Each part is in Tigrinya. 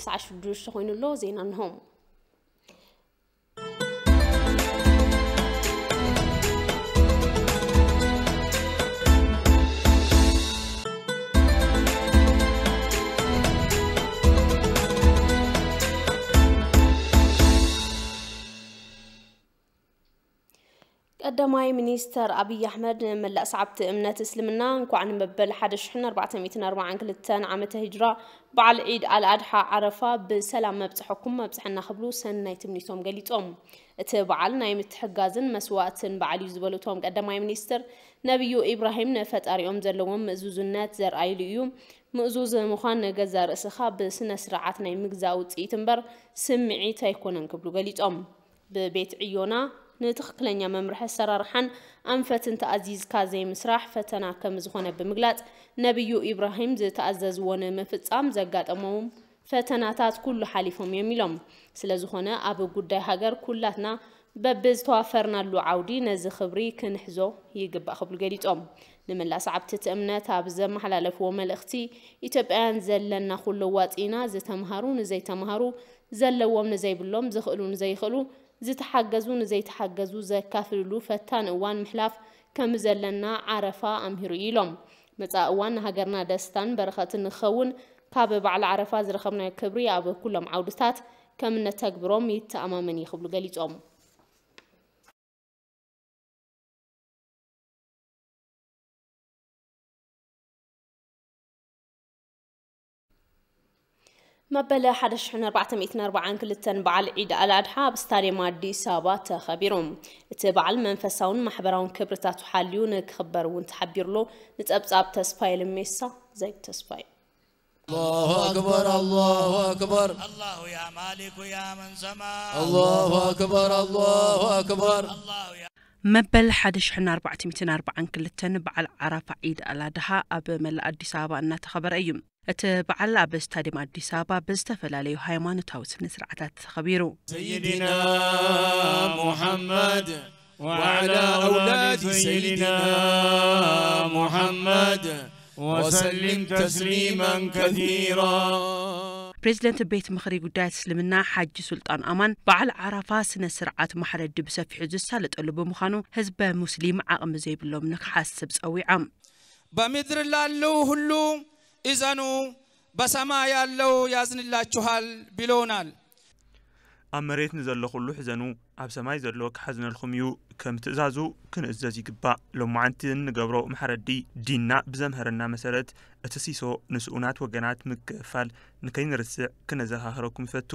ሰዓት ሽዱሽተ ኮይኑ ኣሎ። ዜና እንሆ። ቀዳማይ ሚኒስተር ኣብይ ኣሕመድ ንመላእ ሰዓብቲ እምነት እስልምና እንኳዕ ንመበል ሓደ ሽሕን ኣርባዕተ ሚእትን ኣርባዓን ክልተን ዓመተ ሂጅራ በዓል ዒድ ኣልኣድሓ ዓረፋ ብሰላም መብፅሐኩም መብፅሐና ክብሉ ሰናይ ትምኒቶም ገሊፆም። እቲ በዓል ናይ ምትሕጋዝን መስዋእትን በዓል እዩ ዝበሉ እቶም ቀዳማይ ሚኒስትር፣ ነቢዩ ኢብራሂም ንፈጣሪኦም ዘለዎም ምእዙዝነት ዘርኣይሉ እዩ። ምእዙዝ ምዃን ንገዛእ ርእስኻ ብስነ ስርዓት ናይ ምግዛእ ውፅኢት እምበር ስምዒት ኣይኮነን ክብሉ ገሊፆም። ብቤት ዕዮና ንትኽክለኛ መምርሒ ኣሰራርሓን ኣንፈትን ተኣዚዝካ ዘይምስራሕ ፈተና ከም ዝኾነ ብምግላጽ፣ ነቢዩ ኢብራሂም ዝተኣዘዝዎ ንምፍጻም ዘጋጠሞም ፈተናታት ኩሉ ሓሊፎም እዮም ኢሎም። ስለ ዝኾነ ኣብ ጉዳይ ሃገር ኩላትና በብዝተዋፈርናሉ ዓውዲ ነዚ ክብሪ ክንሕዞ ይግባእ ክብሉ ገሊጾም። ንመላእ ሰዓብቲ እቲ እምነት ኣብ ዘመሓላለፍዎ መልእኽቲ፣ ኢትዮጵያውያን ዘለና ኩሉ ዋፂና ዝተምሃሩ ንዘይተምሃሩ፣ ዘለዎም ንዘይብሎም፣ ዝኽእሉ ንዘይኽእሉ፣ ዝተሓገዙ ንዘይተሓገዙ ዘካፍልሉ ፈታን እዋን ምሕላፍ ከም ዘለና ዓረፋ ኣምሂሩ እዩ ኢሎም። መጻኢ እዋን ንሃገርና ደስታን በረኸትን ንክኸውን ካብ በዓል ዓረፋ ዝረኸብናዮ ክብሪ ኣብ ኩሎም ዓውድታት ከም እነተግብሮም ይተኣማመን እዩ ክብሉ ገሊጾም። መበል ሓደ ሽሕን ኣርባዕተ ሚእትን ኣርባዓን ክልተን በዓል ዒድ ኣልኣድሓ ኣብ ስታድየም ኣዲስ ኣበባ ተኸቢሩ። እቲ በዓል መንፈሳውን ማሕበራውን ክብርታቱ ሓልዩ ንክኽበር እውን ተሓቢሩሎ። ንጸብጻብ ተስፋዬ ልሜሳ፣ ዘይብ ተስፋዬ። الله أكبر، الله أكبر. الله يا مالك يا من سما. الله أكبر، الله أكبر. الله يا መበል ሓደ ሽሕን ኣርባዕተ ሚእትን ኣርባዓን ክልተን በዓል ዓራፋ ዒድ ኣልኣድሓ ኣብ መላእ ኣዲስ ኣበባ እናተኸበረ እዩ። እቲ በዓል ኣብ ስታድየም ኣዲስ ኣበባ ብዝተፈላለዩ ሃይማኖታዊ ስነ ስርዓታት ተኸቢሩ። سيدنا محمد وعلى أولاد سيدنا محمد وسلم تسليما كثيرا. ፕሬዚደንት ቤት ምኽሪ ጉዳያት እስልምና ሓጂ ሱልጣን ኣማን በዓል ዓራፋ ስነ ስርዓት ማሕረዲ ብሰፊሑ ዝሳለጠሉ ብምዃኑ ህዝበ ሙስሊም ዓቕሚ ዘይብሎም ንክሓስብ ጸዊዖም። በምድር ላለው ሁሉ እዘኑ፣ በሰማይ ያለው ያዝንላችኋል ብሎናል። ኣብ መሬት ንዘሎ ኩሉ ሕዘኑ፣ ኣብ ሰማይ ዘሎ ክሓዝነልኩም እዩ። ከም ትእዛዙ ክንእዘዝ ይግባእ። ሎማዓንቲ እንገብሮ ማሕረዲ ዲንና ብዘምሀረና መሰረት እቲ ሲሶ ንስኡናት ወገናት ምክፍፋል ንከይንርስዕ ክነዘኻኽረኩም ይፈቱ።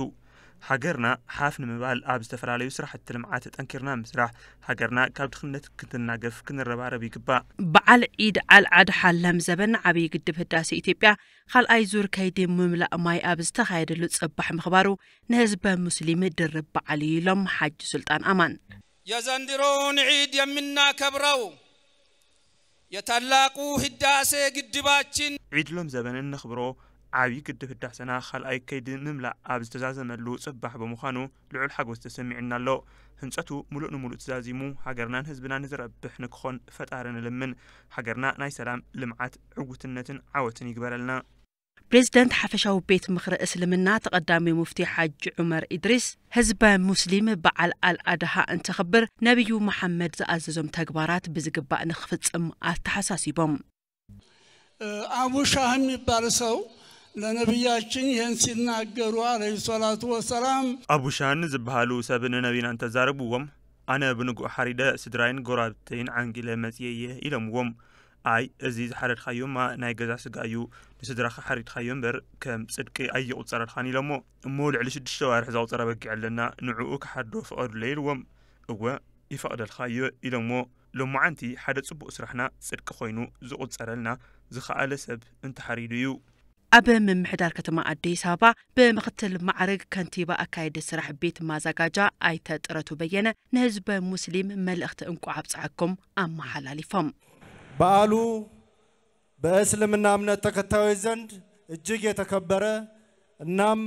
ሃገርና ሓፍ ንምባል ኣብ ዝተፈላለዩ ስራሕቲ ልምዓት ጠንኪርና ምስራሕ፣ ሃገርና ካብ ድኽነት ክትናገፍ ክንረባረብ ይግባእ። በዓል ዒድ ኣልኣድሓ ለም ዘበን ዓብዪ ግድብ ህዳሴ ኢትዮጵያ ካልኣይ ዙር ከይዲ ምምላእ ማይ ኣብ ዝተኻየደሉ ጽባሕ ምኽባሩ ንህዝበ ሙስሊም ድርብ በዓል እዩ ኢሎም ሓጂ ሱልጣን ኣማን። የዘንድሮውን ዒድ የምናከብረው የታላቁ ህዳሴ ግድባችን ዒድ ሎም ዘበን እነኽብሮ ዓብዪ ግድብ ህዳሰና ካልኣይ ከይዲ ምምላእ ኣብ ዝተዛዘመሉ ጽባሕ ብምዃኑ ልዑል ሓጎስ ተሰሚዑና ኣሎ። ህንጸቱ ሙሉእ ንሙሉእ ተዛዚሙ ሃገርናን ህዝብናን ንዝረብሕ ንክኾን ፈጣሪ ንልምን። ሃገርና ናይ ሰላም፣ ልምዓት፣ ዕውትነትን ዓወትን ይግበረልና። ፕሬዝደንት ሓፈሻዊ ቤት ምኽሪ እስልምና ተቐዳሚ ሙፍቲ ሓጂ ዑመር ኢድሪስ፣ ህዝበ ሙስሊም በዓል ኣልኣድሃ እንተኽብር ነቢዩ መሓመድ ዝኣዘዞም ተግባራት ብዝግባእ ንኽፍጽም ኣተሓሳሲቦም። አቡ ሻህ የሚባል ሰው ለነቢያችን ይህን ሲናገሩ አለይሂ ሰላቱ ወሰላም። ኣቡ ሻን ዝበሃሉ ሰብ ንነቢና እንተዛረብዎም፣ ኣነ ብንጉእ ሓሪደ ስድራይን ጎራብተይን ዓንጊለ መጽየ እየ ኢሎምዎም። ኣይ፣ እዚ ዝሓረድካዮማ ናይ ገዛ ስጋ እዩ፣ ንስድራኻ ሓሪድካዮ እምበር ከም ጽድቂ ኣይቑጸረልካን ኢሎሞ። እሞ ልዕሊ ሽዱሽተ ኣዋርሕ ዘቑጸረ በጊዕ ኣለና፣ ንዕኡ ክሓርዶ ፍቐዱለይ ኢልዎም። እወ፣ ይፈቕደልካ እየ ኢሎሞ። ሎማዓንቲ ሓደ ጽቡቕ ስራሕና ጽድቂ ኮይኑ ዝቑጸረልና ዝኸኣለ ሰብ እንተሓሪዱ እዩ። ኣብ ምምሕዳር ከተማ ኣዲስ ኣበባ ብምኽትል ማዕርግ ከንቲባ ኣካየዲ ስራሕ ቤት ማዛጋጃ ኣይተ ጥረቱ በየነ ንህዝበ ሙስሊም መልእኽቲ እንቋዕ ኣብፀሐኩም ኣመሓላሊፎም። በዓሉ በእስልምና እምነት ተከታዮች ዘንድ እጅግ የተከበረ እናም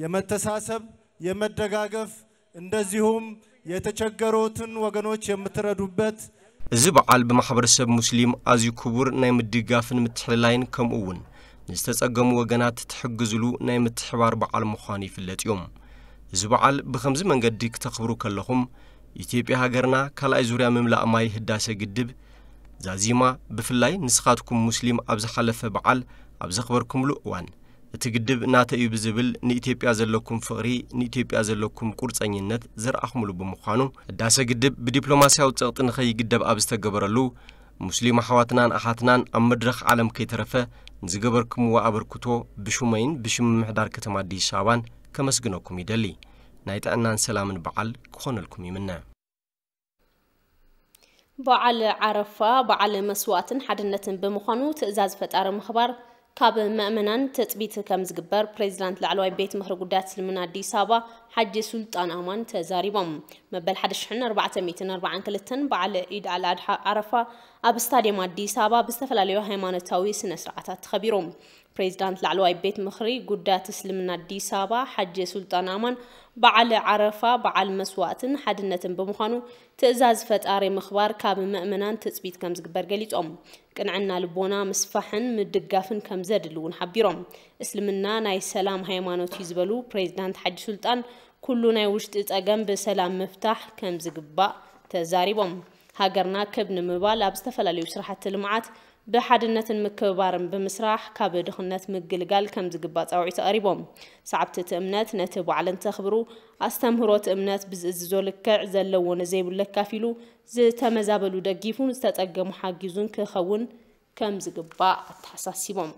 የመተሳሰብ፣ የመደጋገፍ እንደዚሁም የተቸገሩትን ወገኖች የምትረዱበት። እዚ በዓል ብማሕበረሰብ ሙስሊም ኣዝዩ ክቡር ናይ ምድጋፍን ምትሕልላይን ከምኡ እውን ንዝተጸገሙ ወገናት ትሕግዝሉ ናይ ምትሕባር በዓል ምዃኑ ይፍለጥ እዩ። እዚ በዓል ብኸምዚ መንገዲ ክተኽብሩ ከለኹም፣ ኢትዮጵያ ሃገርና ካልኣይ ዙርያ ምምላእ ማይ ህዳሰ ግድብ ዛዚማ፣ ብፍላይ ንስኻትኩም ሙስሊም ኣብ ዝሓለፈ በዓል ኣብ ዘኽበርኩምሉ እዋን፣ እቲ ግድብ ናተይ እዩ ብዝብል ንኢትዮጵያ ዘለኩም ፍቕሪ፣ ንኢትዮጵያ ዘለኩም ቁርጸኝነት ዘርኣኹምሉ ብምዃኑ፣ ህዳሰ ግድብ ብዲፕሎማስያዊ ጸቕጢ ንኸይግደብ ኣብ ዝተገበረሉ፣ ሙስሊም ኣሕዋትናን ኣሓትናን ኣብ መድረኽ ዓለም ከይተረፈ ንዝገበርኩምዎ ኣበርክቶ ብሹመይን ብሽም ምምሕዳር ከተማ ኣዲስ ኣበባን ከመስግነኩም ይደሊ። ናይ ጥዕናን ሰላምን በዓል ክኾነልኩም ይምነ። በዓል ዓረፋ በዓል መስዋእትን ሓድነትን ብምዃኑ ትእዛዝ ፈጣሪ ምኽባር ካብ መእመናን ትጽቢት ከም ዝግበር ፕሬዚዳንት ላዕለዋይ ቤት ምኽሪ ጉዳያት እስልምና ኣዲስ ኣበባ ሓጂ ሱልጣን ኣማን ተዛሪቦም። መበል ሓደ ሽሕን ኣርባዕተ ሚእትን ኣርባዓን ክልተን በዓል ዒድ ኣል ኣድሓ ዓረፋ ኣብ ስታዲየም ኣዲስ ኣበባ ብዝተፈላለዩ ሃይማኖታዊ ስነ ስርዓታት ተኸቢሩ። ፕሬዚዳንት ላዕለዋይ ቤት ምኽሪ ጉዳያት እስልምና ኣዲስ ኣበባ ሓጂ ሱልጣን ኣማን በዓል ዓረፋ በዓል መስዋእትን ሓድነትን ብምዃኑ ትእዛዝ ፈጣሪ ምኽባር ካብ ምእመናን ትጽቢት ከም ዝግበር ገሊጾም። ቅንዕና ልቦና ምስፋሕን ምድጋፍን ከም ዘድሊ እውን ሓቢሮም። እስልምና ናይ ሰላም ሃይማኖት እዩ ዝበሉ ፕሬዚዳንት ሓጂ ሱልጣን፣ ኩሉ ናይ ውሽጢ ጸገም ብሰላም ምፍታሕ ከም ዝግባእ ተዛሪቦም። ሃገርና ክብ ንምባል ኣብ ዝተፈላለዩ ስራሕቲ ልምዓት ብሓድነትን ምክብባርን ብምስራሕ ካብ ድኽነት ምግልጋል ከም ዝግባእ ጻውዒት ኣቕሪቦም። ሰዓብቲ እቲ እምነት ነቲ በዓል እንተኽብሩ፣ ኣስተምህሮ እቲ እምነት ብዝእዝዞ ልክዕ ዘለዎ ንዘይብሉ ኣካፊሉ፣ ዝተመዛበሉ ደጊፉን ዝተጸገሙ ሓጊዙን ክኸውን ከም ዝግባእ ኣተሓሳሲቦም።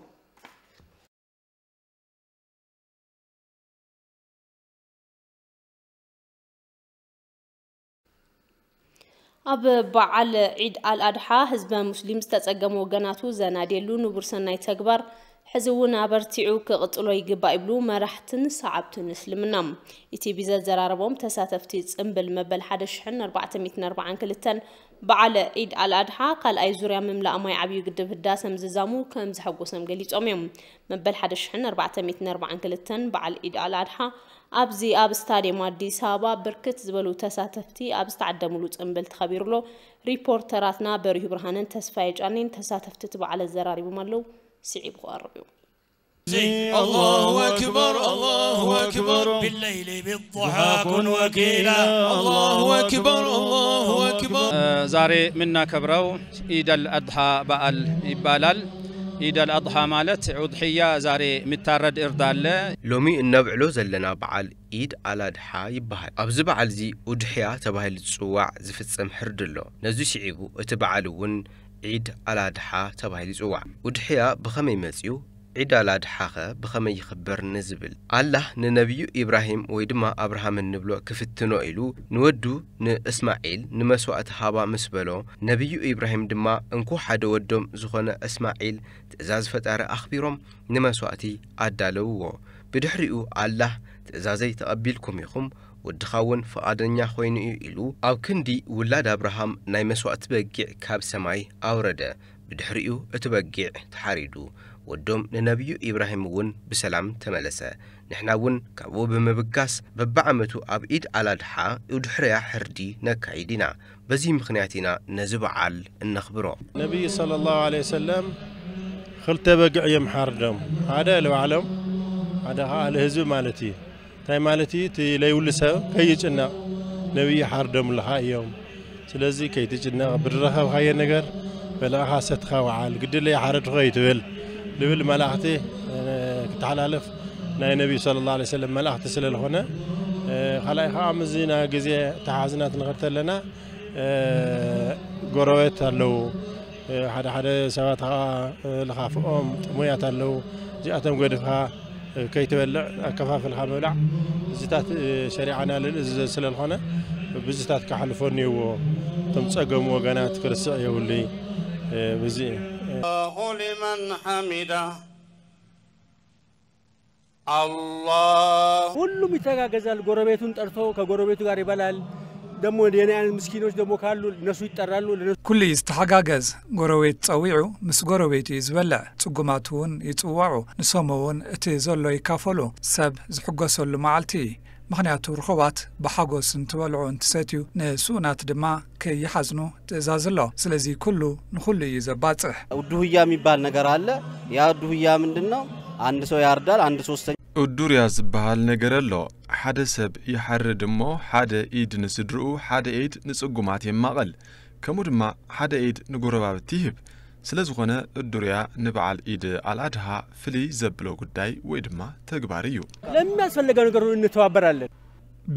ኣብ በዓል ዒድ ኣል ኣድሓ ህዝበ ሙስሊም ዝተጸገሙ ወገናቱ ዘናድየሉ ንቡር ሰናይ ተግባር ሕዚ እውን ኣበርቲዑ ክቕጽሎ ይግባእ ይብሉ መራሕትን ሰዓብትን እስልምና። ኢቲቪ ዘዘራረቦም ተሳተፍቲ ጽምብል መበል ሓደ ሽሕን ኣርባዕተ ሚእትን ኣርባዓን ክልተን በዓል ዒድ ኣል ኣድሓ ካልኣይ ዙርያ ምምላእ ማይ ዓብዩ ግድብ ህዳሰ ምዝዛሙ ከም ዘሐጎሰም ገሊጾም እዮም። መበል ሓደ ሽሕን ኣርባዕተ ሚእትን ኣርባዓን ክልተን በዓል ዒድ ኣል ኣድሓ ኣብዚ ኣብ ስታዲየም ኣዲስ ኣበባ ብርክት ዝበሉ ተሳተፍቲ ኣብ ዝተዓደምሉ ጽምብል ተኸቢሩ ኣሎ። ሪፖርተራትና በሪሁ ብርሃንን ተስፋዬ ጫኔን ተሳተፍቲ እቲ በዓል ኣዘራሪቦም ኣለዉ። ስዒቡ ክቐርብ እዩ። الله أكبر، الله أكبر، بالليل بالضحى كن وكيلا. الله أكبر، الله أكبر. ዛሬ የምናከብረው ኢድ አል አድሓ በዓል ይባላል። ኢድ አል አድሓ ማለት ኡድሕያ፣ ዛሬ የሚታረድ እርድ አለ። ሎሚ እነብዕሎ ዘለና በዓል ኢድ ኣል ኣድሓ ይበሃል። ኣብዚ በዓል እዚ ኡድሕያ ተባሂሉ ዝጽዋዕ ዝፍጸም ሕርዲ ኣሎ። ነዚ ስዒቡ እቲ በዓል እውን ዒድ ኣል ኣድሓ ተባሂሉ ይጽዋዕ። ኡድሕያ ብኸመይ መጽዩ? ዒድ ኣል ኣድሓኸ ብኸመይ ይኽበር ንዝብል፣ ኣላህ ንነቢዩ ኢብራሂም ወይ ድማ ኣብርሃም እንብሎ ክፍትኖ ኢሉ ንወዱ ንእስማዒል ንመስዋእቲ ሃባ ምስ በሎ፣ ነቢዩ ኢብራሂም ድማ እንኮ ሓደ ወዶም ዝኾነ እስማዒል ትእዛዝ ፈጣሪ ኣኽቢሮም ንመስዋእቲ ኣዳለውዎ። ብድሕሪኡ ኣላህ ትእዛዘይ ተቐቢልኩም ኢኹም፣ ወድኻ እውን ፍቓደኛ ኮይኑ እዩ ኢሉ ኣብ ክንዲ ውላድ ኣብርሃም ናይ መስዋእቲ በጊዕ ካብ ሰማይ ኣውረደ። ብድሕሪኡ እቲ በጊዕ ተሓሪዱ፣ ወዶም ንነቢዩ ኢብራሂም እውን ብሰላም ተመለሰ። ንሕና እውን ካብኡ ብምብጋስ በብዓመቱ ኣብ ኢድ ኣል ኣድሓ ኡድሕያ ሕርዲ ነካይድ ኢና። በዚ ምኽንያት ኢና ነዚ በዓል እነኽብሮ። ነቢይ ሰለላሁ ዐለይሂ ወሰለም ክልተ በግዕ እዮም ሓርዶም። ሓደ ንባዕሎም፣ ሓደ ኸዓ ንህዝቢ ማለት እዩ። እንታይ ማለት እዩ? እቲ ለይብሉ ሰብ ከይጭነቕ ነቢይ ሓርዶምልኻ እዮም። ስለዚ ከይትጭነቕ፣ ብዝረኸብካዮ ነገር በልዕኻ ሰትኻ ወዓል፣ ግድለይ ሓረድኹ ኣይትበል ልብል መልእኽቲ፣ እ፣ ክተሓላለፍ ናይ ነቢይ ሰለላሁ ዐለይሂ ወሰለም መልእኽቲ ስለ ዝኾነ፣ እ፣ ካልኣይ ኸዓ ምስዚ ናይ ግዜ ተሓዝና ክንኸድ ተለና፣ እ፣ ጎረቤት ኣለዉ። እ፣ ሓደ ሓደ ሰባት ኸዓ፣ እ፣ ልኻፍኦም ጥሙያት ኣለዉ። እዚኣቶም ገድፍካ፣ እ፣ ከይትበልዕ ኣከፋፍልካ ምብላዕ፣ እዚታት፣ እ፣ ሸሪዓና ልል እዚ ስለ ዝኾነ፣ ብዝታት ክሓልፎ እኒእዎ። እቶም ጸገሙ ወገናት ክርስዕ የብሉይ፣ እ፣ ብዚ፣ እ። الله لمن حمده. الله. ሁሉም ይተጋገዛል። ጎረቤቱን ጠርቶ ከጎረቤቱ ጋር ይበላል። ደግሞ የኔ አይነት ምስኪኖች ደግሞ ካሉ እነሱ ይጠራሉ። ለነሱ ኩሉ እዩ ዝተሓጋገዝ። ጎረቤት ጸዊዑ ምስ ጎረቤቱ እዩ ዝበልዕ። ጽጉማት እውን ይጽወዑ። ንሶም እውን እቲ ዘሎ ይካፈሉ። ሰብ ዝሕጎሰሉ መዓልቲ። ምኽንያቱ ርኹባት ብሓጎስ እንትበልዑ እንትሰትዩ፣ ንስኡናት ድማ ከይሓዝኑ ትእዛዝ ኣሎ። ስለዚ ኩሉ ንኹሉ እዩ ዘባጽሕ። ኡዱህያ የሚባል ነገር አለ። ያ ኡዱህያ ምንድን ነው? አንድ ሰው ያርዳል፣ አንድ ሶስተኛ ኡዱርያ ዝበሃል ነገር ኣሎ። ሓደ ሰብ ይሓርድ እሞ ሓደ ኢድ ንስድርኡ ሓደ ኢድ ንጽጉማት የማቐል። ከምኡ ድማ ሓደ ኢድ ንጎረባብቲ ይህብ። ስለ ዝኾነ እዱርያ ንበዓል ኢድ ኣልኣድሃ ፍልይ ዘብሎ ጉዳይ ወይ ድማ ተግባር እዩ። ለሚያስፈልገው ነገር ሁሉ እንተባበራለን።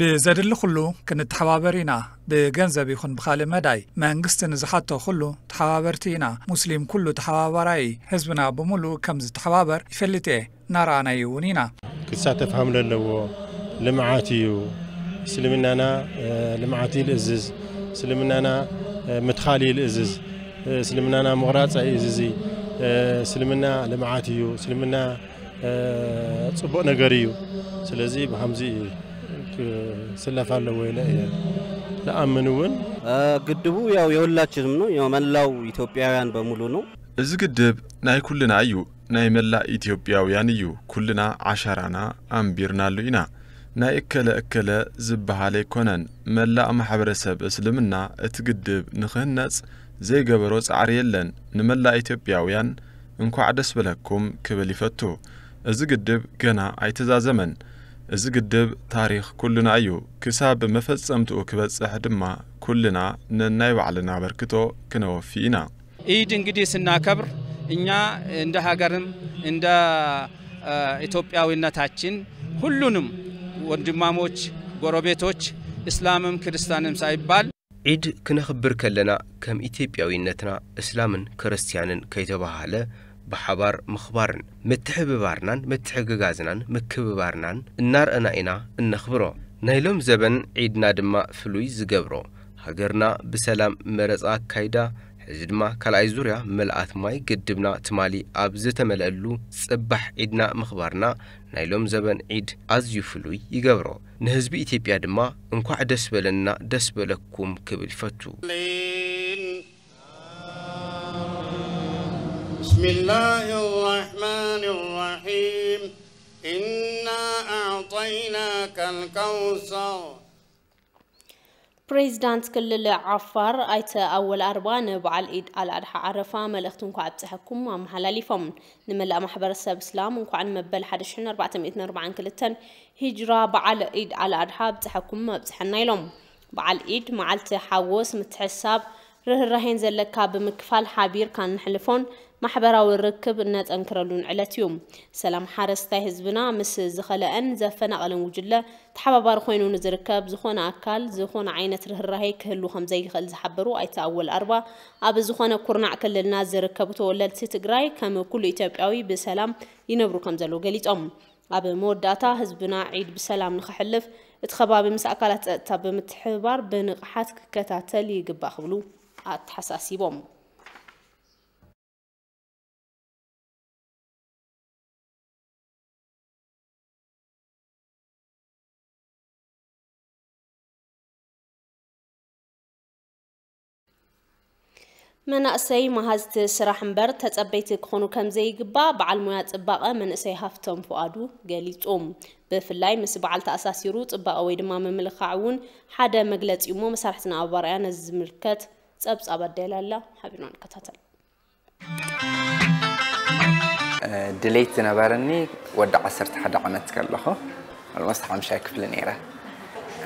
ብዘድሊ ኩሉ ክንተሓባበር ኢና። ብገንዘብ ይኹን ብኻልእ መዳይ መንግስቲ ንዝሓቶ ኩሉ ተሓባበርቲ ኢና። ሙስሊም ኩሉ ተሓባባራይ፣ ህዝብና ብምሉእ ከም ዝተሓባበር ይፈልጥ እየ፣ እናረኣናዮ እውን ኢና። ክሳተፍ ሃም ለለዎ ልምዓት እዩ። እስልምናና ልምዓት እዩ ልእዝዝ። እስልምናና ምትኻል እዩ ልእዝዝ። እስልምናና ምቕራፅ እዩ እዝዚ። እስልምና ልምዓት እዩ። እስልምና ፅቡቕ ነገር እዩ። ስለዚ ብሃምዚ ክስለፍ ኣለዎ ኢለ እየ ልኣምን እውን። ግድቡ ያው የሁላችንም ነው፣ የመላው ኢትዮጵያውያን በሙሉ ነው። እዚ ግድብ ናይ ኩልና እዩ። ናይ መላእ ኢትዮጵያውያን እዩ። ኩልና ዓሻራና ኣንቢርናሉ ኢና። ናይ እከለ እከለ ዝበሃል ኣይኮነን። መላእ ማሕበረሰብ እስልምና እቲ ግድብ ንኽህነፅ ዘይገበሮ ፃዕሪ የለን። ንመላእ ኢትዮጵያውያን እንኳዕ ደስ በለኩም ክብል ይፈቱ። እዚ ግድብ ገና ኣይተዛዘመን። እዚ ግድብ ታሪኽ ኩልና እዩ። ክሳብ መፈጸምትኡ ክበጽሕ ድማ ኩልና ነናይ ባዕልና ኣበርክቶ ክነወፊ ኢና። ኢድ እንግዲህ ስናከብር እኛ እንደ ሀገርም እንደ ኢትዮጵያዊነታችን ሁሉንም ወንድማሞች፣ ጎረቤቶች፣ እስላምም ክርስቲያንም ሳይባል ዒድ ክነኽብር ከለና ከም ኢትዮጵያዊነትና እስላምን ክርስቲያንን ከይተባሃለ ብሓባር ምኽባርን ምትሕብባርናን ምትሕግጋዝናን ምክብባርናን እናርኣና ኢና እነኽብሮ። ናይ ሎም ዘበን ዒድና ድማ ፍሉይ ዝገብሮ ሃገርና ብሰላም መረፃ ኣካይዳ ሕዚ ድማ ካልኣይ ዙርያ ምልኣት ማይ ግድብና ትማሊ ኣብ ዝተመልኣሉ ፅባሕ ዒድና ምኽባርና ናይ ሎም ዘበን ዒድ ኣዝዩ ፍሉይ ይገብሮ። ንህዝቢ ኢትዮጵያ ድማ እንኳዕ ደስ በለና ደስ በለኩም ክብል ይፈቱ። بسم الله الرحمن الرحيم. إنا أعطيناك الكوثر. ፕሬዚዳንት ክልል ዓፋር ኣይተ ኣወል ኣርባ ንበዓል ኢድ ኣልኣድሓ ዓረፋ መልእኽቲ እንኳዕ ኣብፀሐኩም ኣመሓላሊፎም። ንመላእ ማሕበረሰብ እስላም እንኳዕ ንመበል ሓደ ሽሕን ኣርባዕተ ሚእትን ኣርባዓን ክልተን ሂጅራ በዓል ኢድ ኣልኣድሓ ኣብፀሐኩም ኣብፀሐና ኢሎም። በዓል ኢድ መዓልቲ ሓጎስ፣ ምትሕስሳብ፣ ርህራሄን ዘለካ ብምክፋል ሓቢርካ እነሕልፎን ማሕበራዊ ርክብ እነጠንክረሉን ዕለት እዩ። ሰላም ሓረስታይ ህዝብና ምስ ዝኸለአን ዘፈናቐለን ጉጅለ ተሓባባሪ ኮይኑ ንዝርከብ ዝኾነ ኣካል ዝኾነ ዓይነት ርህራሄ ክህሉ ከምዘይኽእል ዝሓበሩ ኣይተ ኣወል ኣርባ፣ ኣብ ዝኾነ ኩርናዕ ክልልና ዝርከቡ ተወለድቲ ትግራይ ከም ኩሉ ኢትዮጵያዊ ብሰላም ይነብሩ ከምዘለዉ ገሊጾም። ኣብ መወዳእታ ህዝብና ዒድ ብሰላም ንኸሕልፍ እቲ ከባቢ ምስ ኣካላት ጸጥታ ብምትሕብባር ብንቕሓት ክከታተል ይግባእ ክብሉ ኣተሓሳሲቦም። መናእሰይ መሃዝቲ ስራሕ እምበር ተጸበይቲ ክኾኑ ከምዘይግባእ በዓል ሞያ ጽባቐ መንእሰይ ሃፍቶም ፍቓዱ ገሊጹ። ብፍላይ ምስ በዓል ተኣሳሲሩ ጽባቐ ወይ ድማ ምምልኻዕ እውን ሓደ መግለጺ እሞ መሳርሕትና ኣብ ኣርኣያ ነዚ ዝምልከት ጸብጻብ ኣዳይላ ኣላ። ሓቢርና ንከታተል። ድሌት ዝነበረኒ ወዲ ዓሰርተ ሓደ ዓመት ከለኹ፣ ኦልሞስት ሓምሻይ ክፍሊ ነይረ።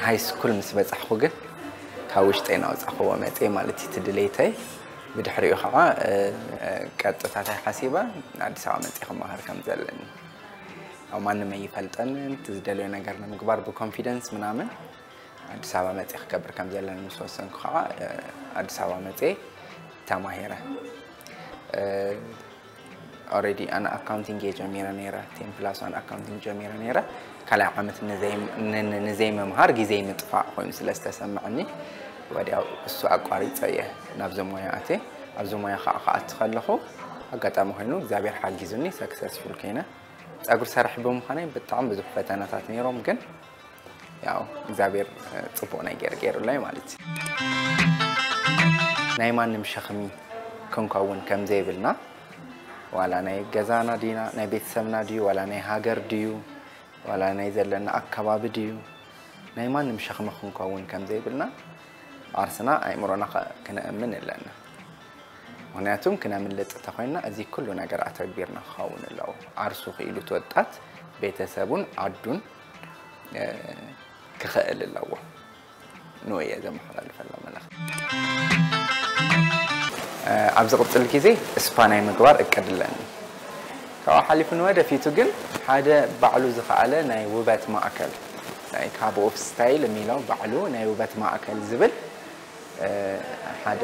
ሃይ ስኩል ምስ በጻሕኩ ግን ካብ ውሽጠይ ናውጻኽዎ መጽየ ማለት እዩ እቲ ድሌተይ። ብድሕሪኡ ከዓ ቀጥታ እንታይ ሓሲበ፣ ኣዲስ ኣበባ መጽየ ክመሃር ከም ዘለኒ። ኣብ ማንም ኣይፈልጠንን፣ እቲ ዝደልዮ ነገር ንምግባር ብኮንፊደንስ ምናምን ኣዲስ ኣበባ መጽየ ክገብር ከም ዘለኒ ምስ ወሰንኩ ከዓ ኣዲስ ኣበባ መጽየ ተማሂረ። ኦረዲ ኣነ ኣካውንቲንግ እየ ጀሚረ ነይረ፣ ቴን ፕላስ ዋን ኣካውንቲንግ ጀሚረ ነይረ። ካልኣይ ዓመት ንዘይምምሃር ግዜይ ምጥፋእ ኮይኑ ስለ ዝተሰምዐኒ ወዲያው እሱ ኣቋሪፀ እየ ናብዚ ሞያ ኣትየ። ኣብዚ ሞያ ከዓ ክኣቱ ከለኹ ኣጋጣሚ ኮይኑ እግዚኣብሔር ሓጊዙኒ ሰክሰስፉል ኮይነ። ፀጉሪ ሰራሕ ብምዃነይ ብጣዕሚ ብዙሕ ፈተናታት ነይሮም፣ ግን ያው እግዚኣብሔር ፅቡቕ ነገር ገይሩለይ ማለት እዩ። ናይ ማንም ሸኽሚ ክንከውን ከም ዘይብልና፣ ዋላ ናይ ገዛና ድዩና፣ ናይ ቤተሰብና ድዩ፣ ዋላ ናይ ሃገር ድዩ፣ ዋላ ናይ ዘለና ኣከባቢ ድዩ፣ ናይ ማንም ሸኽሚ ክንከውን ከም ዘይብልና ዓርስና ኣእምሮና ከ-፣ ክነእምን ኣለና። ምኽንያቱም ክነምልጥ እንተኾይንና እዚ ኩሉ ነገር ኣተግቢርና ክኸውን ኣለዎ። ዓርሱ ክኢሉ እቲ ወጣት ቤተሰቡን ዓዱን፣ እ፣ ክኽእል ኣለዎ። ንኡ እየ ዘመሓላልፈሎም ኣለኹ። እ፣ ኣብ ዝቕጽል ግዜ ስፓ ናይ ምግባር እቅድ ኣለኒ። ካብኡ ሓሊፉ ንወደፊቱ ግን ሓደ ባዕሉ ዝኸኣለ ናይ ውበት ማእከል፣ ናይ ካብ ኦፍ ስታይል የሚለው ባዕሉ ናይ ውበት ማእከል ዝብል፣ እ፣ ሓደ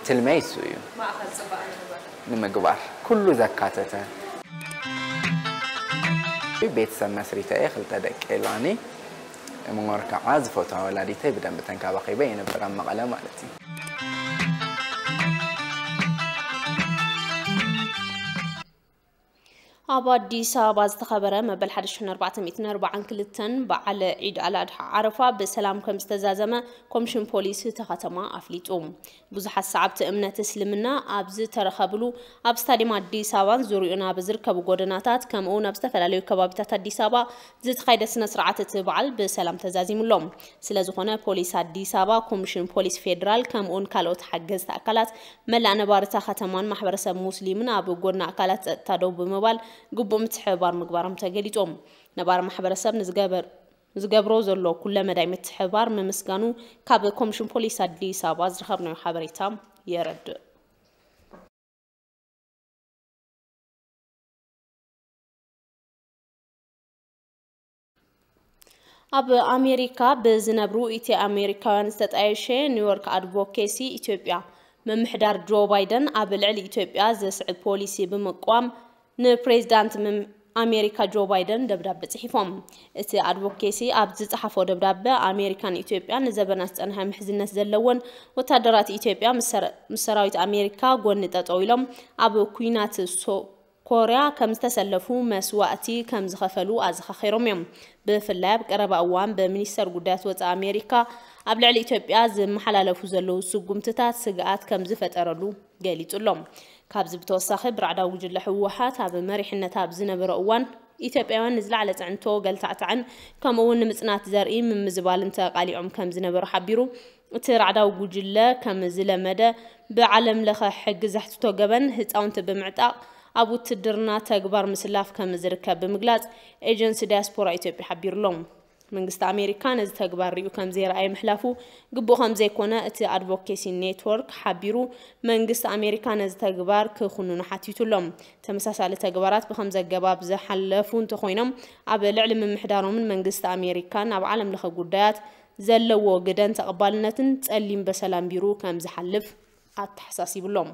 ትልመይ እሱ እዩ። ማእከል ጽባቐ ንምግባር። ንምግባር። ኩሉ ዘካተተ። ቤተሰብ መስሪተ እየ፣ ክልተ ደቂ የላኒ። እምወር ከዓ ዝፈትዋ ወላዲተይ ብደንቢ ተንከባኺበ የንብር ኣብ መቐለ ማለት እዩ። ኣብ ኣዲስ ኣበባ ዝተኸበረ መበል ሓደ ሺሕን ኣርባዕተ ሚእትን ኣርባዓን ክልተን በዓል ዒድ ኣልኣድሓ ዓረፋ ብሰላም ከም ዝተዛዘመ ኮሚሽን ፖሊስ እታ ከተማ ኣፍሊጡ። ብዙሓት ሰዓብቲ እምነት እስልምና ኣብ ዝተረኸብሉ ኣብ ስታዲየም ኣዲስ ኣበባን ዙሪኡን ኣብ ዝርከቡ ጎደናታት ከምኡውን ኣብ ዝተፈላለዩ ከባቢታት ኣዲስ ኣበባ ዝተኻየደ ስነ ስርዓት እቲ በዓል ብሰላም ተዛዚሙሎም። ስለ ዝኾነ ፖሊስ ኣዲስ ኣበባ፣ ኮሚሽን ፖሊስ ፌዴራል ከምኡውን ካልኦት ሓገዝቲ ኣካላት መላእ ነባሪ እታ ከተማን ማሕበረሰብ ሙስሊምን ኣብ ጎድኒ ኣካላት ጸጥታ ደው ብምባል ግቡእ ምትሕብባር ምግባሮም ተገሊጾም። ነባሪ ማሕበረሰብ ንዝገበር-፣ ንዝገብሮ ዘሎ ኩለ መዳይ ምትሕብባር ምምስጋኑ ካብ ኮሚሽን ፖሊስ ኣዲስ ኣበባ ዝረኸብናዮ ሓበሬታ የረድእ። ኣብ ኣሜሪካ ብዝነብሩ ኢትዮ ኣሜሪካውያን ዝተጣየሸ ኒውዮርክ ኣድቮኬሲ ኢትዮጵያ ምምሕዳር ጆ ባይደን ኣብ ልዕሊ ኢትዮጵያ ዘስዕብ ፖሊሲ ብምቅዋም ንፕሬዚዳንት ምም-፣ ኣሜሪካ ጆ ባይደን ደብዳበ ጽሒፎም። እቲ ኣድቮኬሲ ኣብ ዝጸሓፎ ደብዳበ ኣሜሪካን ኢትዮጵያን ንዘበናት ዝጸንሐ ምሕዝነት ዘለወን ወታደራት ኢትዮጵያ ምስ ሰረ-፣ ምስ ሰራዊት ኣሜሪካ ጎኒ ጠጠው ኢሎም ኣብ ኩናት ሶ-፣ ኮርያ ከም ዝተሰለፉ መስዋእቲ ከም ዝኸፈሉ ኣዘኻኺሮም እዮም። ብፍላይ ኣብ ቀረባ እዋን ብሚኒስተር ጉዳያት ወጻኢ ኣሜሪካ ኣብ ልዕሊ ኢትዮጵያ ዝመሓላለፉ ዘለዉ ስጉምትታት ስግኣት ከም ዝፈጠረሉ ገሊጹ ኣሎ። ካብዚ ብተወሳኺ ብራዕዳዊ ጉጅለ ህወሓት ኣብ መሪሕነት ኣብ ዝነበረ እዋን ኢትዮጵያውያን ንዝለዓለ ጽዕንቶ ገልታዕታዕን ከምኡ እውን ንምጽናት ዘርኢ ምምዝባልን ተቓሊዖም ከም ዝነበሩ ሓቢሩ። እቲ ራዕዳዊ ጉጅለ ከም ዝለመደ ብዓለም ለኸ ሕጊ ዘሕትቶ ገበን ህፃውንቲ ብምዕጣቕ ኣብ ውትድርና ተግባር ምስላፍ ከም ዝርከብ ብምግላፅ ኤጀንሲ ዲያስፖራ ኢትዮጵያ ሓቢሩሎም። መንግስቲ ኣሜሪካ ነዚ ተግባር ሪኡ ከም ዘይረኣየ ምሕላፉ ግቡእ ከም ዘይኮነ እቲ ኣድቮኬሲ ኔትወርክ ሓቢሩ፣ መንግስቲ ኣሜሪካ ነዚ ተግባር ክኹንኑ ሓቲቱሎም። ተመሳሳሊ ተግባራት ብኸምዚ ኣገባብ ዝሓለፉ እንተኾይኖም ኣብ ልዕሊ ምምሕዳሮምን መንግስቲ ኣሜሪካን ኣብ ዓለም ለኸ ጉዳያት ዘለዎ ግደን ተቐባልነትን ጸሊም በሰል ኣንቢሩ ከም ዝሓልፍ ኣተሓሳሲቡሎም።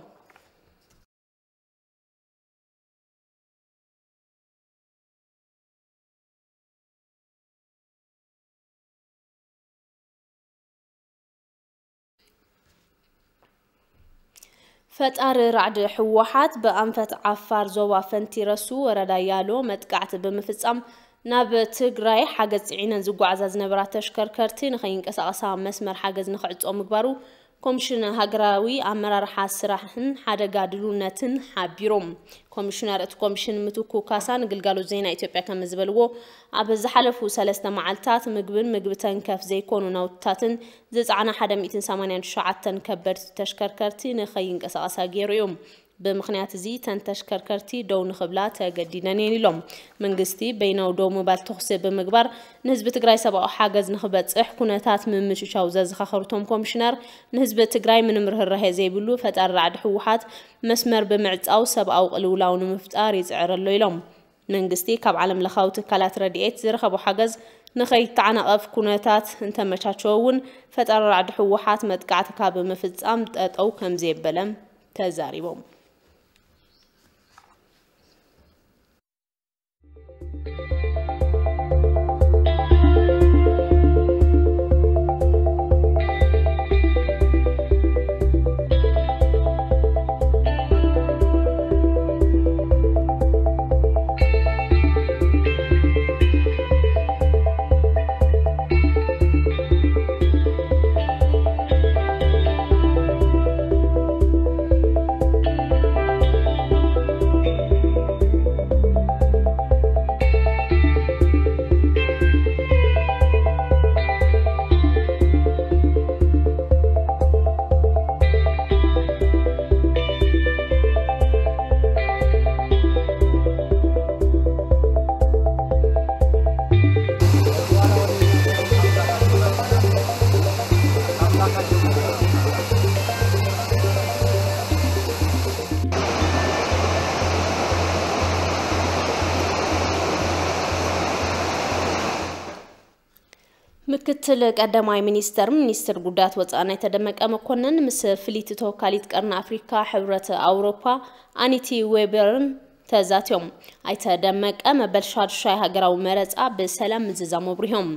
ፈጣሪ ራዕዲ ህወሓት ብኣንፈት ዓፋር ዞባ ፈንቲረሱ ወረዳ ያሎ መጥቃዕቲ ብምፍጻም ናብ ትግራይ ሓገዝ ጽዒነን ዝጓዓዛ ዝነበራ ተሽከርከርቲ ንኸይንቀሳቐሳ መስመር ሓገዝ ንኽዕጾ ምግባሩ ኮሚሽን ሃገራዊ ኣመራርሓ ስራሕን ሓደጋ ድልውነትን ሓቢሮም። ኮሚሽነር እቲ ኮሚሽን ምትኩ ካሳ ንግልጋሎት ዜና ኢትዮጵያ ከም ዝበልዎ፣ ኣብ ዝሓለፉ ሰለስተ መዓልታት ምግብን ምግቢ ተንከፍ ዘይኮኑ ናውትታትን ዝጸዓና ሓደ ሚእትን ሰማንያን ትሽዓተን ከበድቲ ተሽከርከርቲ ንኸይንቀሳቐሳ ገይሩ እዩ። ብምኽንያት እዚ እተን ተሽከርከርቲ ደው ንኽብላ ተገዲደን እየን ኢሎም። መንግስቲ በይናዊ ደው ምባል ተኹሲ ብምግባር ንህዝቢ ትግራይ ሰብኣዊ ሓገዝ ንኽበፅሕ ኩነታት ምምችቻው ዘዘኻኸሩ እቶም ኮሚሽነር፣ ንህዝቢ ትግራይ ምንም ርህራሄ ዘይብሉ ፈጣሪ ራዕዲ ህወሓት መስመር ብምዕፃው ሰብኣዊ ቅልውላው ንምፍጣር ይፅዕር ኣሎ ኢሎም። መንግስቲ ካብ ዓለም ለኻዊ ትካላት ረድኤት ዝረኸቦ ሓገዝ ንኸይተዓናቐፍ ኩነታት እንተመቻቸወ እውን ፈጣሪ ራዕዲ ህወሓት መጥቃዕቲ ካብ ምፍፃም ጠጠው ከም ዘየበለ ተዛሪቦም። ምክትል ቀዳማይ ሚኒስተር ሚኒስትር ጉዳያት ወፃኢ ኣይተ ደመቀ መኮንን ምስ ፍልይቲ ተወካሊት ቀርኒ ኣፍሪካ ሕብረት ኣውሮፓ ኣኒቲ ዌበርን ተዛትዮም። ኣይተ ደመቀ መበል ሻዱሻይ ሃገራዊ መረፃ ብሰላም ምዝዛሙ ኣብሪሆም።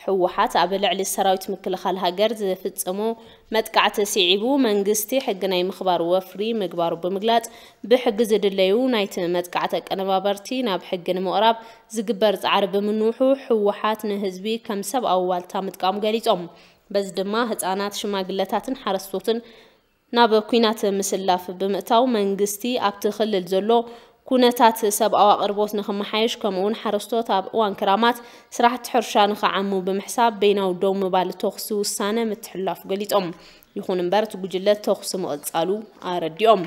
ህወሓት ኣብ ልዕሊ ሰራዊት ምክልኻል ሃገር ዝፍፅሞ መጥቃዕቲ ስዒቡ መንግስቲ ሕጊ ናይ ምኽባር ወፍሪ ምግባሩ ብምግላፅ፣ ብሕጊ ዝድለዩ ናይቲ መጥቃዕቲ ኣቀነባበርቲ ናብ ሕጊ ንምቕራብ ዝግበር ፃዕሪ ብምንውሑ ህወሓት ንህዝቢ ከም ሰብኣዊ ዋልታ ምጥቃሙ ገሊፆም። በዚ ድማ ህፃናት፣ ሽማግለታትን ሓረስቶትን ናብ ኲናት ምስላፍ ብምእታው መንግስቲ ኣብቲ ክልል ዘሎ ኩነታት ሰብኣዊ ኣቕርቦት ንኽመሓየሽ ከምኡውን ሓረስቶት ኣብ እዋን ክራማት ስራሕቲ ሕርሻ ንኽዓሙ ብምሕሳብ በይናዊ ደው ምባል ተኹሲ ውሳነ ምትሕልላፉ ገሊፆም። ይኹን እምበር እቲ ጉጅለ ተኹሲ ምቕፃሉ ኣረዲኦም።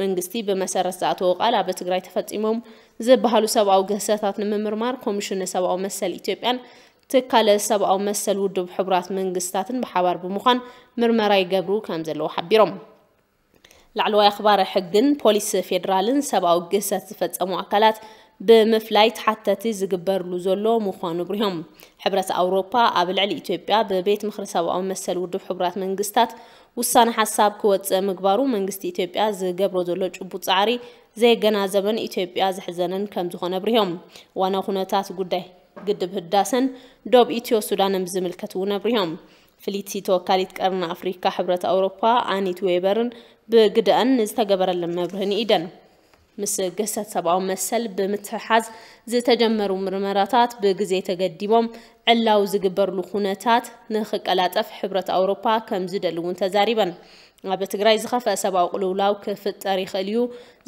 መንግስቲ ብመሰረት ዝኣተዎ ቃል ኣብ ትግራይ ተፈፂሞም ዝበሃሉ ሰብኣዊ ግህሰታት ንምምርማር ኮሚሽን ሰብኣዊ መሰል ኢትዮጵያን ትካል ሰብኣዊ መሰል ውድብ ሕቡራት መንግስታትን ብሓባር ብምዃን ምርመራ ይገብሩ ከም ዘለዉ ሓቢሮም። ላዕለዋይ ኣኽባሪ ሕግን ፖሊስ ፌዴራልን ሰብኣዊ ግህሰት ዝፈጸሙ ኣካላት ብምፍላይ ተሓተቲ ዝግበርሉ ዘሎ ምዃኑ ኣብሪሆም። ሕብረት ኣውሮፓ ኣብ ልዕሊ ኢትዮጵያ ብቤት ምኽሪ ሰብኣዊ መሰል ውድብ ሕቡራት መንግስታት ውሳነ ሓሳብ ክወጽእ ምግባሩ መንግስቲ ኢትዮጵያ ዝገብሮ ዘሎ ጭቡጥ ጻዕሪ ዘየገናዘበን ኢትዮጵያ ዘሕዘነን ከም ዝኾነ ኣብሪሆም። ዋና ኩነታት ጉዳይ ግድብ ህዳሰን ዶብ ኢትዮ ሱዳንን ብዝምልከት እውን ኣብሪሆም። ፍልይቲ ተወካሊት ቀርኒ ኣፍሪካ ሕብረት ኣውሮፓ ኣኒት ዌበርን ብግደኣን ንዝተገበረለን መብርሂ ንኢደን። ምስ ግህሰት ሰብኣዊ መሰል ብምትሕሓዝ ዝተጀመሩ ምርመራታት ብግዜ ተገዲቦም ዕላው ዝግበርሉ ኩነታት ንኽቀላጠፍ ሕብረት ኣውሮፓ ከም ዝደሊ እውን ተዛሪበን። ኣብ ትግራይ ዝኸፍአ ሰብኣዊ ቅልውላው ክፍጠር ይኽእል እዩ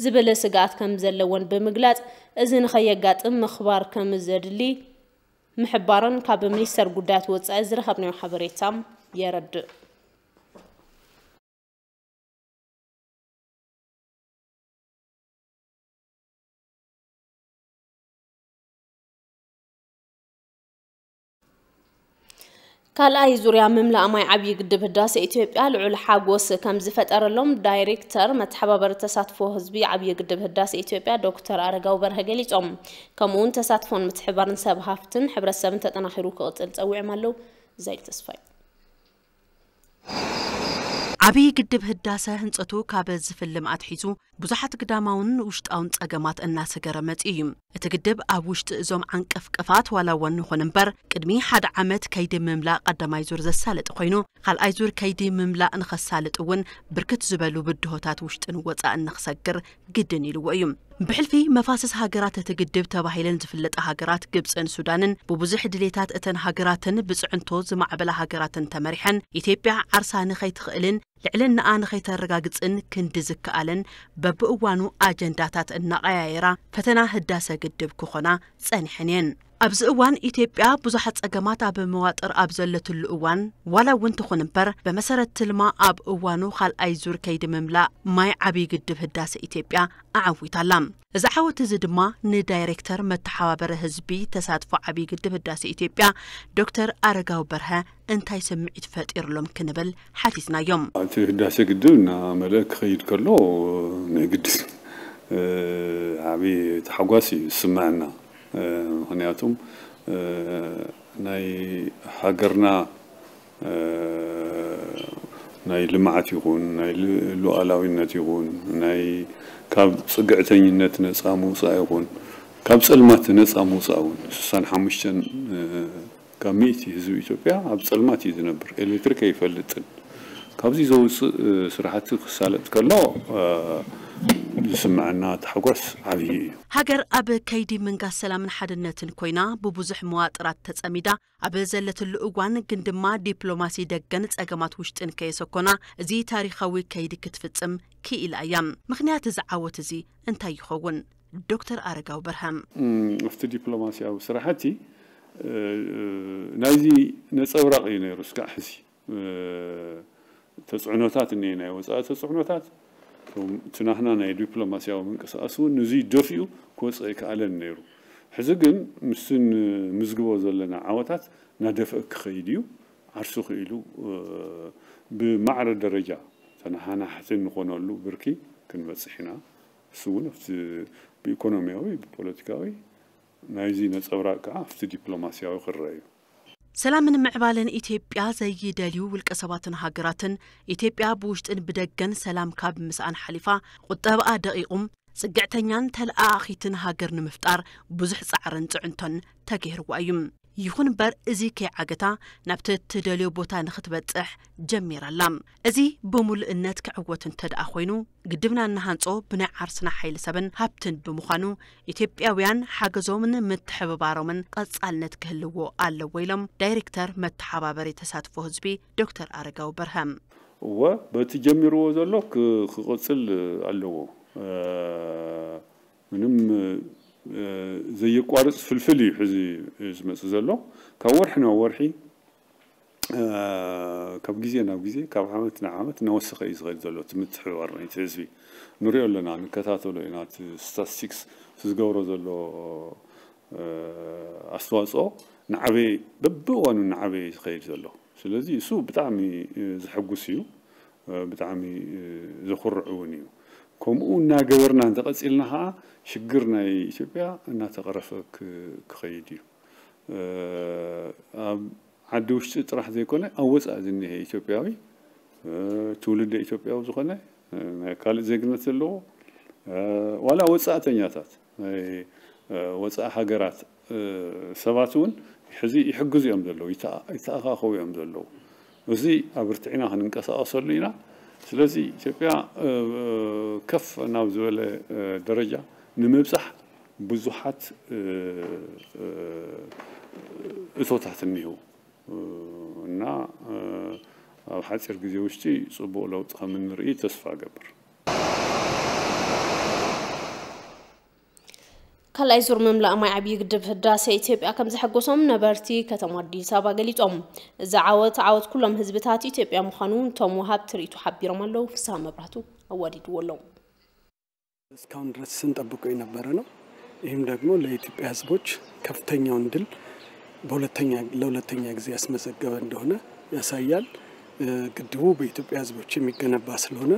ዝብል ስግኣት ከም ዘለወን ብምግላጽ፣ እዚ ንኸየጋጥም ምኽባር ከም ዘድሊ ምሕባረን ካብ ሚኒስተር ጉዳያት ወጻኢ ዝረኸብናዮ ሓበሬታ የረድእ። ካልኣይ ዙርያ ምምላእ ማይ ዓብዪ ግድብ ህዳሰ ኢትዮጵያ ልዑል ሓጎስ ከም ዝፈጠረሎም ዳይሬክተር መተሓባበሪ ተሳትፎ ህዝቢ ዓብዪ ግድብ ህዳሰ ኢትዮጵያ ዶክተር ኣረጋዊ በርሀ ገሊፆም። ከምኡ እውን ተሳትፎን ምትሕብባርን ሰብ ሃፍትን ሕብረተሰብን ተጠናኺሩ ክቕፅል ፀዊዖም ኣለዉ። ዛይድ ተስፋይ። ዓብዪ ግድብ ህዳሰ ህንፀቱ ካብ ዝፍልም ኣትሒዙ ብዙሓት ግዳማውን ውሽጣውን ፀገማት እናሰገረ መፂኡ እዩ። እቲ ግድብ ኣብ ውሽጢ እዞም ዓንቀፍቀፋት ዋላ እውን ይኹን እምበር ቅድሚ ሓደ ዓመት ከይዲ ምምላእ ቀዳማይ ዙር ዘሳለጠ ኮይኑ፣ ካልኣይ ዙር ከይዲ ምምላእ ንኸሳልጥ እውን ብርክት ዝበሉ ብድሆታት ውሽጥን ወፃእን ንኽሰግር ግድን ኢልዎ እዩ። ብሕልፊ መፋስስ ሃገራት እቲ ግድብ ተባሂለን ዝፍለጣ ሃገራት ግብፅን ሱዳንን ብብዙሕ ድሌታት እተን ሃገራትን ብፅዕንቶ ዝማዕበላ ሃገራትን ተመሪሐን ኢትዮጵያ ዓርሳ ንኸይትኽእልን ልዕልናኣ ንኸይተረጋግፅን ክንዲ ዝከኣለን በብእዋኑ ኣጀንዳታት እናቐያየራ ፈተና ህዳሰ ግድብ ክኾና ፀኒሐን እየን። ኣብዚ እዋን ኢትዮጵያ ብዙሓት ፀገማት ኣብ መዋጥር ኣብ ዘለትሉ እዋን ዋላ እውን ትኹን እምበር ብመሰረት ትልማ ኣብ እዋኑ ካልኣይ ዙር ከይዲ ምምላእ ማይ ዓብዪ ግድብ ህዳሰ ኢትዮጵያ ኣዓዊታ ኣላ። እዚ ዓወት እዚ ድማ ንዳይሬክተር መተሓባበሪ ህዝቢ ተሳትፎ ዓብዪ ግድብ ህዳሰ ኢትዮጵያ ዶክተር ኣረጋዊ በርሀ እንታይ ስምዒት ፈጢርሎም ክንብል ሓቲትናዮም። እቲ ህዳሰ ግድብ እናመለአ ክኸይድ ከሎ ናይ ግድን ዓብዪ ታሕጓስ እዩ ዝስምዐና። ምኽንያቱም ናይ ሃገርና ናይ ልምዓት ይኹን ናይ ሉኣላዊነት ይኹን ናይ ካብ ፅግዕተኝነት ነፃ ምውፃእ ይኹን ካብ ፀልማት ነፃ ምውፃእ እውን ስሳን ሓሙሽተን ካብ ሚእቲ ህዝቢ ኢትዮጵያ ኣብ ፀልማት እዩ ዝነብር፣ ኤሌክትሪክ ኣይፈልጥን። ካብዚ ዘውፅእ ስራሕቲ ክሳለጥ ከሎ ዝስምዐና ታሕጓስ ዓብዪ እዩ። ሃገር ኣብ ከይዲ ምንጋስ ሰላምን ሓድነትን ኮይና ብብዙሕ መዋጥራት ተፀሚዳ ኣብ ዘለትሉ እዋን ግን ድማ ዲፕሎማሲ ደገን ፀገማት ውሽጥን ከየሰኮና እዚ ታሪኻዊ ከይዲ ክትፍፅም ክኢላ እያ። ምኽንያት እዚ ዓወት እዚ እንታይ ይኸውን? ዶክተር ኣረጋዊ በርሀ። ኣብቲ ዲፕሎማሲያዊ ስራሕቲ ናይዚ ነፀብራቕ እዩ ነይሩ እስካዕ ሕዚ። ተፅዕኖታት እኒሀ፣ ናይ ወፃኢ ተፅዕኖታት፣ እቲ ናህና ናይ ዲፕሎማሲያዊ ምንቅስቃስ እውን ንዙይ ደፊኡ ክወፅእ ኣይከኣለን ነይሩ። ሕዚ ግን ምስቲ ንምዝግቦ ዘለና ዓወታት እናደፍአ ክኸይድ እዩ። ዓርሱ ክኢሉ ብማዕረ ደረጃ ተነሓናሕቲ እንኾነሉ ብርኪ ክንበፅሕ ኢና። እሱ እውን ኣብቲ ብኢኮኖሚያዊ ብፖለቲካዊ ናይዚ ነፀብራቅ ከዓ ኣብቲ ዲፕሎማሲያዊ ክረአ እዩ። ሰላምን ምዕባለን ኢትዮጵያ ዘይደልዩ ውልቀ ሰባትን ሃገራትን፣ ኢትዮጵያ ብውሽጥን ብደገን ሰላም ካብ ምስኣን ሓሊፋ፣ ቁጠባኣ ደቒቑም፣ ጽግዕተኛን ተለኣኣኺትን ሃገር ንምፍጣር ብዙሕ ጻዕርን ጽዕንቶን ተገይርዋ እዩ። ይኹን እምበር፣ እዚ ከይዓገታ ናብቲ እትደልዮ ቦታ ንኽትበጽሕ ጀሚራ ኣላ። እዚ ብምሉእነት ክዕወት እንተ ደኣ ኮይኑ፣ ግድብና እንሃንጾ ብናይ ዓርስና ሓይሊ ሰብን ሃብትን ብምዃኑ፣ ኢትዮጵያውያን ሓገዞምን ምትሕብባሮምን ቀጻልነት ክህልዎ ኣለዎ ኢሎም ዳይሬክተር መተሓባበሪ ተሳትፎ ህዝቢ ዶክተር ኣረጋዊ በርሀ። እወ፣ በቲ ጀሚርዎ ዘሎ ክ-፣ ክቕጽል ኣለዎ። እ፣ ምንም፣ እ፣ ዘየቋርጽ ፍልፍል እዩ ሕዚ ዝመጽእ ዘሎ። ካብ ወርሒ ናብ ወርሒ፣ እ፣ ካብ ግዜ ናብ ግዜ፣ ካብ ዓመት ናብ ዓመት እናወሰኸ እዩ ዝኸይድ ዘሎ እቲ ምትሕብባር ናይቲ ህዝቢ። ንሪኦ ኣለና፣ ንከታተሎ ኢና። እቲ ስታትስቲክስ እቲ ዝገብሮ ዘሎ፣ እ፣ ኣስተዋፅኦ ንዓበየ፣ በብእዋኑ እናዓበየ እዩ ዝኸይድ ዘሎ። ስለዚ እሱ ብጣዕሚ፣ እ፣ ዘሐጉስ እዩ፣ እ፣ ብጣዕሚ፣ እ፣ ዘኹርዕ እውን እዩ። ከምኡ እናገበርና እንተቐፂልና ኸዓ ሽግር ናይ ኢትዮጵያ እናተቐረፈ ክ-፣ ክኸይድ እዩ። እ፣ ኣብ ዓዲ ውሽጢ ጥራሕ ዘይኮነ ኣብ ወፃኢ ዝኒሀ ኢትዮጵያዊ፣ እ፣ ትውልደ ኢትዮጵያዊ ዝኾነ፣ እ፣ ናይ ካልእ ዜግነት ዘለዎ፣ እ፣ ዋላ ወፃእተኛታት ናይ፣ እ፣ ወፃኢ ሃገራት፣ እ፣ ሰባት እውን ሕዚ ይሕግዙ እዮም ዘለዉ፣ ይተኣ-፣ ይተኣኻኸቡ እዮም ዘለዉ። እዚ ኣበርቲዕና ክንንቀሳቐሰሉ ኢና። ስለዚ ኢትዮጵያ፣ እ፣ ከፍ ናብ ዝበለ፣ እ፣ ደረጃ ንምብጻሕ ብዙሓት፣ እ፣ እ፣ እቶታት እኒህው፣ እ፣ እና፣ እ፣ ኣብ ሓፂር ግዜ ውሽጢ ፅቡቕ ለውጢ ከም እንርኢ ተስፋ እገብር። ካልኣይ ዙር ምምላእ ማይ ዓብዪ ግድብ ህዳሰ ኢትዮጵያ ከም ዘሐጎሶም ነበርቲ ከተማ ኣዲስ ኣበባ ገሊጾም። እዚ ዓወት ዓወት ኩሎም ህዝብታት ኢትዮጵያ ምዃኑ እቶም ወሃብቲ ርእይቶ ሓቢሮም ኣለዉ። ፍስሃ መብራህቱ ኣዋዲድዎ ኣሎ። እስካሁን ድረስ ስንጠብቀው የነበረ ነው። ይህም ደግሞ ለኢትዮጵያ ህዝቦች ከፍተኛውን ድል በሁለተኛ፣ ለሁለተኛ ጊዜ ያስመዘገበ እንደሆነ ያሳያል። እ፣ ግድቡ በኢትዮጵያ ህዝቦች የሚገነባ ስለሆነ፣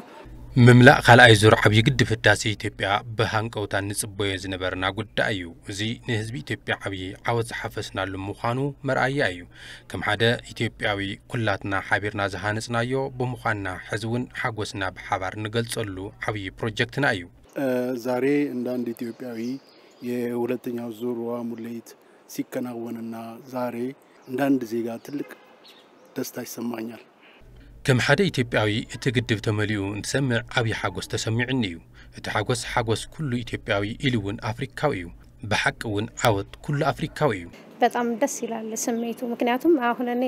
ምምላእ ካልኣይ ዙር ዓብዪ ግድብ ህዳሴ ኢትዮጵያ ብሃንቀውታ ንጽበዮ ዝነበርና ጉዳይ እዩ። እዚ ንህዝቢ ኢትዮጵያ ዓብዪ ዓወት ዝሓፈስናሉ ምዃኑ መርኣያ እዩ። ከም ሓደ ኢትዮጵያዊ ኩላትና ሓቢርና ዝሃነጽናዮ ብምዃንና፣ ሕዚ እውን ሓጎስና ብሓባር ንገልጸሉ ዓብዪ ፕሮጀክትና እዩ። እ፣ ዛሬ እንደ አንድ ኢትዮጵያዊ የሁለተኛው ዙር ውሃ ሙሌት ሲከናወንና ዛሬ እንደ አንድ ዜጋ ትልቅ ደስታ ይሰማኛል። ከም ሓደ ኢትዮጵያዊ፣ እቲ ግድብ ተመሊኡ እንትሰምዕ ዓብዪ ሓጎስ ተሰሚዑኒ እዩ። እቲ ሓጎስ ሓጎስ ኩሉ ኢትዮጵያዊ ኢሉ እውን ኣፍሪካዊ እዩ። ብሓቂ እውን ዓወት ኩሉ ኣፍሪካዊ እዩ። በጣም ደስ ይላል ስሜቱ። ምክንያቱም አሁን እኔ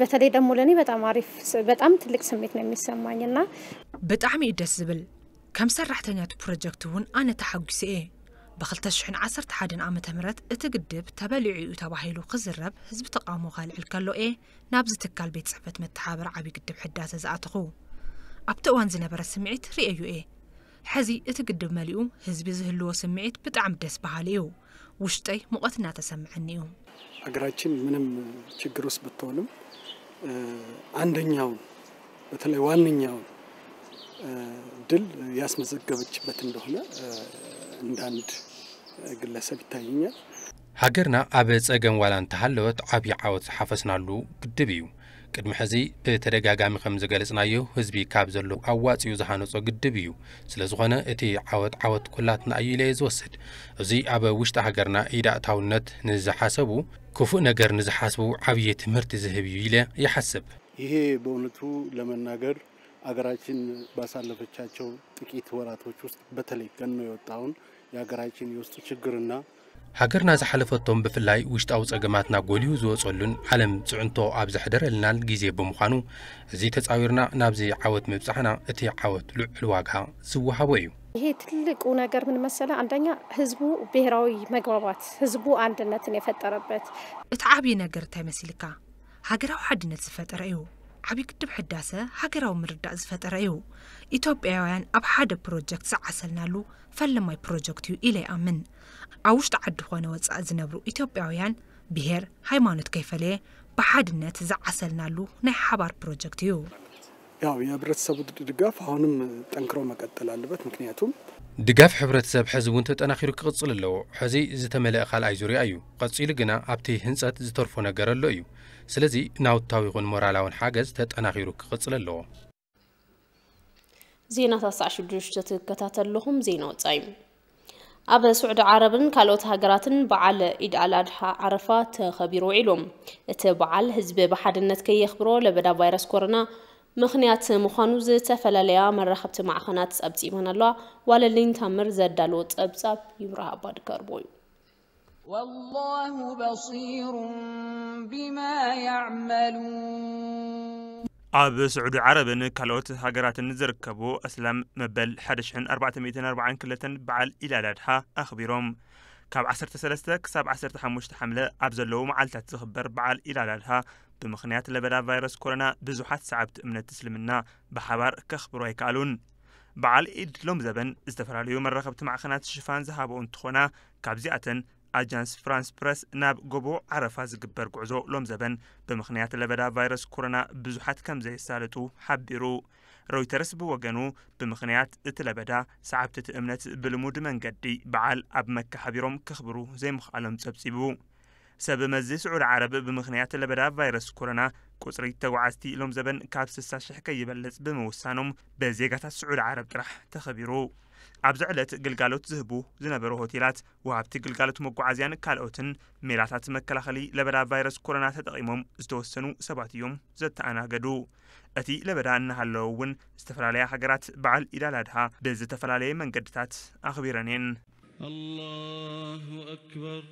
በተለይ ደግሞ ለእኔ በጣም አሪፍ ስ-፣ በጣም ትልቅ ስሜት ነው የሚሰማኝ እና ብጣዕሚ እዩ ደስ ዝብል። ከም ሰራሕተኛ እቲ ፕሮጀክት እውን ኣነ ተሓጒሰ እየ። ብ ክልተ ሽሕን ዓሰርተ ሓደን ዓመተ ምህረት እቲ ግድብ ተበሊዑ እዩ ተባሂሉ ክዝረብ ህዝቢ ተቓውሞ ከልዕል ከሎ እየ ናብዚ ትካል ቤት ጽሕፈት መተሓባበሪ ዓብዪ ግድብ ሕዳሰ ዝኣተኹ። ኣብቲ እዋን ዝነበረ ስምዒት ርእየዮ እየ። ሕዚ እቲ ግድብ መሊኡ ህዝቢ ዝህልዎ ስምዒት ብጣዕሚ ደስ በሃሊ እዩ። ውሽጠይ ሙቐት እናተሰምዐኒ እዩ። ሀገራችን ምንም ችግር ውስጥ ብትሆንም፣ እ፣ አንደኛውን በተለይ ዋነኛውን፣ እ፣ ድል ያስመዘገበችበት እንደሆነ፣ እ፣ እንደ አንድ ግለሰብ ይታየኛል። ሃገርና ኣብ ጸገም ዋላ እንተሃለወት ዓብዪ ዓወት ዝሓፈስናሉ ግድብ እዩ። ቅድሚ ሕዚ ብተደጋጋሚ ከም ዝገለጽናዮ ህዝቢ ካብ ዘሎ ኣዋጺኡ ዝሃነጾ ግድብ እዩ። ስለ ዝኾነ እቲ ዓወት ዓወት ኩላትና እዩ ኢለ እየ ዝወስድ። እዚ ኣብ ውሽጢ ሃገርና ኢድ ኣእታውነት ንዝሓሰቡ፣ ክፉእ ነገር ንዝሓስቡ ዓብዪ ትምህርቲ ዝህብ እዩ ኢለ ይሓስብ። ይሄ በእውነቱ ለመናገር አገራችን ባሳለፈቻቸው ጥቂት ወራቶች ውስጥ በተለይ ገኖ የወጣውን የአገራችን የውስጥ ችግርና ሃገርና ዝሓለፈቶም ብፍላይ ውሽጣዊ ጸገማትና ጎሊሁ ዝወጸሉን ዓለም ጽዕንቶ ኣብ ዘሕደረልናን ግዜ ብምዃኑ እዚ ተጻዊርና ናብዚ ዓወት ምብጻሕና እቲ ዓወት ልዑል ዋጋ ዝወሃቦ እዩ። ይሄ ትልቁ ነገር ምን መሰለ፣ አንደኛ ህዝቡ ብሔራዊ መግባባት፣ ህዝቡ አንድነትን የፈጠረበት። እቲ ዓብዪ ነገር እንታይ መሲልካ? ሃገራዊ ሓድነት ዝፈጠረ እዩ። ዓብዪ ግድብ ሕዳሰ ሃገራዊ ምርዳእ ዝፈጠረ እዩ። ኢትዮጵያውያን ኣብ ሓደ ፕሮጀክት ዝዓሰልናሉ ፈለማይ ፕሮጀክት እዩ ኢለ ይኣምን። ኣብ ውሽጢ ዓዲ ኾነ ወፃኢ ዝነብሩ ኢትዮጵያውያን ብሄር፣ ሃይማኖት ከይፈለየ ብሓድነት ዝዓሰልናሉ ናይ ሓባር ፕሮጀክት እዩ። ያው የህብረተሰቡ ድጋፍ አሁንም ጠንክሮ መቀጠል አለበት። ምክንያቱም ድጋፍ ሕብረተሰብ ሕዚ እውን ተጠናኺሩ ክቕጽል ኣለዎ። ሕዚ ዝተመልአ ካልኣይ ዙርያ እዩ። ቀጺሉ ግና ኣብቲ ህንጸት ዝተርፎ ነገር ኣሎ እዩ። ስለዚ ናውታዊ ይኹን ሞራላውን ሓገዝ ተጠናኺሩ ክቕጽል ኣለዎ። ዜናታት ሰዓት ሽዱሽተ ትከታተሉ ኣለኹም። ዜና ወጻኢ። ኣብ ስዑዲ ዓረብን ካልኦት ሃገራትን በዓል ኢድ ኣል ኣድሓ ዓረፋ ተኸቢሩ ውዒሉ። እቲ በዓል ህዝቢ ብሓድነት ከየኽብሮ ለበዳ ቫይረስ ኮሮና ምኽንያት ምዃኑ ዝተፈላለያ መራኸብቲ ማዕኸናት ጸብጺበን ኣለዋ። ዋለልኝ ታምር ዘዳለዎ ጸብጻብ ይብራህ ኣባድከርቦ እዩ። والله بصير بما يعملون ኣብ ስዑዲ ዓረብን ካልኦት ሃገራትን ዝርከቡ ኣስላም መበል ሓደ ሽሕን ኣርባዕተ ሚእትን ኣርባዓን ክልተን በዓል ኢድ ኣል ኣድሓ ኣኽቢሮም። ካብ ዓሰርተ ሰለስተ ክሳብ ዓሰርተ ሓሙሽተ ሓምለ ኣብ ዘለዉ መዓልታት ዝኽበር በዓል ኢድ ኣል ኣድሓ ብምኽንያት ለበዳ ቫይረስ ኮሮና ብዙሓት ሰዓብቲ እምነት እስልምና ብሓባር ከኽብሩ ኣይከኣሉን። በዓል ኢድ ሎም ዘበን ዝተፈላለዩ መራኸብቲ ማዕኸናት ሽፋን ዝሃበኦ እንትኾና ካብዚኣተን ኣጃንስ ፍራንስ ፕረስ ናብ ጎቦ ዓረፋ ዝግበር ጉዕዞ ሎም ዘበን ብምኽንያት ለበዳ ቫይረስ ኮሮና ብዙሓት ከም ዘየሳለጡ ሓቢሩ። ሮይተርስ ብወገኑ ብምኽንያት እቲ ለበዳ ሰዓብቲ እቲ እምነት ብልሙድ መንገዲ በዓል ኣብ መካ ሓቢሮም ከኽብሩ ዘይምኽኣሎም ጸብጺቡ። ሰብ መዚ ስዑዲ ዓረብ ብምኽንያት ለበዳ ቫይረስ ኮሮና ቁጽሪ ተጓዓዝቲ ሎም ዘበን ካብ ስሳ ሽሕ ከይበልጽ ብምውሳኖም ብዜጋታት ስዑዲ ዓረብ ጥራሕ ተኸቢሩ። ኣብዚ ዕለት ግልጋሎት ዝህቡ ዝነበሩ ሆቴላት፣ ወሃብቲ ግልጋሎት መጓዓዝያን ካልኦትን ሜላታት መከላኸሊ ለበዳ ቫይረስ ኮሮና ተጠቒሞም ዝተወሰኑ ሰባት እዮም ዘተኣናገዱ። እቲ ለበዳ እናሃለወ እውን ዝተፈላለያ ሃገራት በዓል ኢድ ኣል ኣድሃ ብዝተፈላለየ መንገድታት ኣኽቢረን እየን። الله أكبر